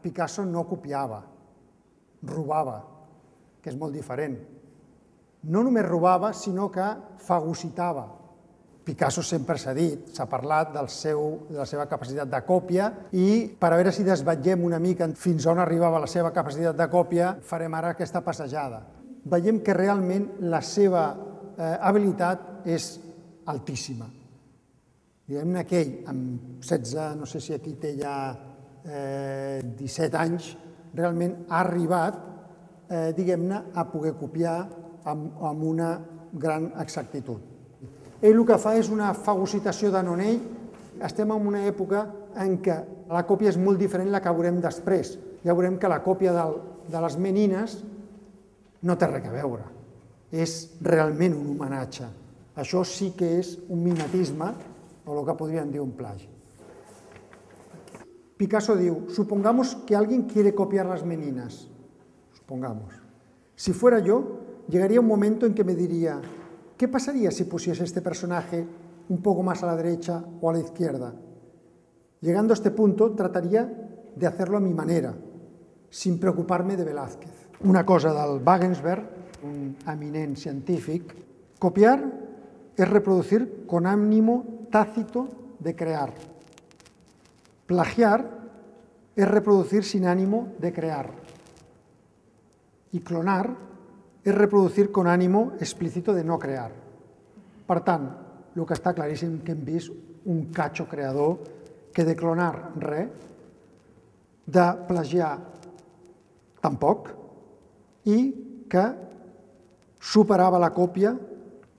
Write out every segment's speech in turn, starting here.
Picasso no copiava, robava, que és molt diferent. No només robava, sinó que fagocitava. Picasso sempre s'ha dit, s'ha parlat de la seva capacitat de còpia i per a veure si desvetllem una mica fins on arribava la seva capacitat de còpia, farem ara aquesta passejada. Veiem que realment la seva habilitat és altíssima. Diguem-ne que ell, amb 16, no sé si aquí té ja 17 anys, realment ha arribat, diguem-ne, a poder copiar amb una gran exactitud. Ell el que fa és una fagocitació de nonell. Estem en una època en què la còpia és molt diferent de la que veurem després. Ja veurem que la còpia de les menines no té res a veure. És realment un homenatge. Això sí que és un mimetisme, o el que podríem dir un plagi. Picasso diu, supongamos que alguien quiere copiar las meninas. Supongamos. Si fuera yo, llegaría un momento en que me diría, ¿qué pasaría si pusiese este personaje un poco más a la derecha o a la izquierda? Llegando a este punto, trataría de hacerlo a mi manera, sin preocuparme de Velázquez. Una cosa del Wagensberg, un eminent científic, copiar es reproducir con ánimo tácito de crear. Plagiar es reproducir sin ánimo de crear. Y clonar és reproducir con ánimo explícito de no crear. Per tant, el que està claríssim que hem vist un catxo creador que de clonar res, de plagiar tampoc, i que superava la còpia,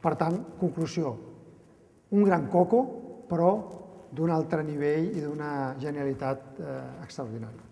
per tant, conclusió, un gran coco, però d'un altre nivell i d'una genialitat extraordinària.